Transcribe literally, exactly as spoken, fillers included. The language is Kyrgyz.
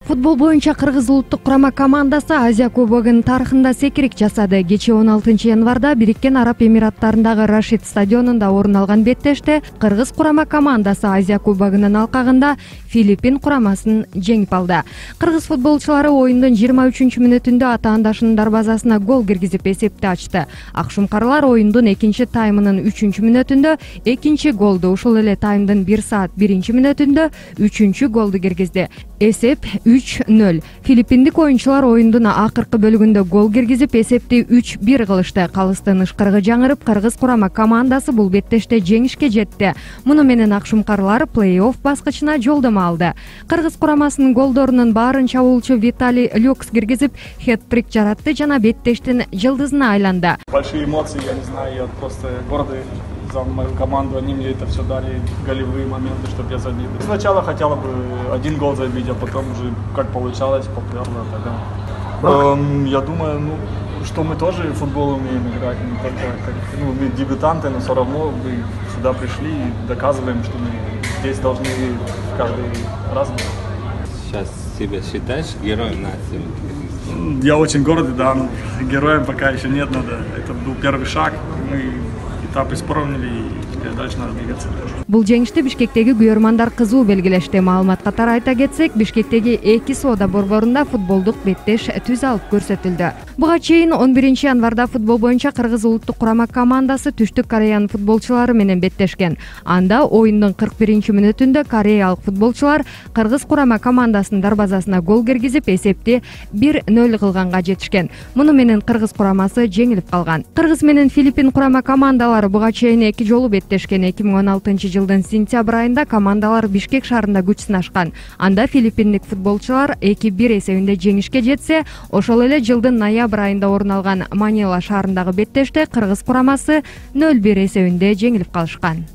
Футбол боюнча Кыргыз улуттук курама командасы Азия кубогунун тарыхында секирик жасады. Кечээ он алтынчы январда Бириккен Араб Эмираттарындагы Рашид стадионунда орун алган беттеште Кыргыз курама командасы Азия кубогунун алкагында Филиппин курамасын жеңип алды. Кыргыз футболчулары оюндун жыйырма үчүнчү мүнөтүндө ата-андашынын дарбазасына гол киргизип эсепти ачты. Акшумкарлар оюндун экинчи таймынын үчүнчү мүнөтүндө экинчи голду, ушул эле таймдын бир саат биринчи мүнөтүндө үчүнчү голду киргизди. Эсеп үч нөл. Филиппиндик оюнчулар оюндун акыркы бөлүгүндө гол киргизип, эсепти үч бир кылышты. Калыстын ышкырыгы жаңырып, Кыргыз курама командасы бул беттеште жеңишке жетти. Муну менен акшумкарлар плей-офф баскычына жолдомо алды. Кыргыз курамасынын голдорунун баарын чабуучу Виталий Люкс киргизип, хет-трик жаратты жана беттештин жылдызына айланды. Большие эмоции, я не знаю, я просто гордый за мою команду, они мне это все дали, голевые моменты, чтобы я забил. Сначала хотела бы один гол забить, а потом уже как получалось, поперло тогда. Эм, я думаю, ну, что мы тоже в футбол умеем играть, не только как, ну, мы дебютанты, но все равно мы сюда пришли и доказываем, что мы здесь должны каждый раз быть. Сейчас себя считаешь героем нации? Я очень гордый, да, но героем пока еще нет, надо. Это был первый шаг, мы этап исправили и теперь дальше надо двигаться. Бул жеңишти Бишкектеги күйөрмандар кызуу белгилешти. Маалымат катары айта кетсек, Бишкектеги эки соода борборунда футболдук беттеш түз алып көрсөтүлдү. Буга чейин он биринчи январда футбол боюнча Кыргыз улуттук курама командасы Түштүк Кореянын футболчулары менен беттешкен. Анда оюндун кырк биринчи мүнөтүндө кореялык футболчулар Кыргыз курама командасынын дарбазасына гол киргизип, эсепти бир нөл кылганга жетишкен. Муну менен Кыргыз курамасы жеңилип калган. Кыргыз менен Филиппин курама командалары буга чейин эки жолу беттешкен. эки миң он алтынчы жылдын сентябрь айында командалар Бишкек шаарында күч сынашкан. Анда филиппиндик футболчулар эки бир эсебинде жеңишке жетсе, ошол эле жылдын ноябрь айында орун алган Манила шаарындагы беттеште Кыргыз курамасы нөл бир эсебинде жеңилип калышкан.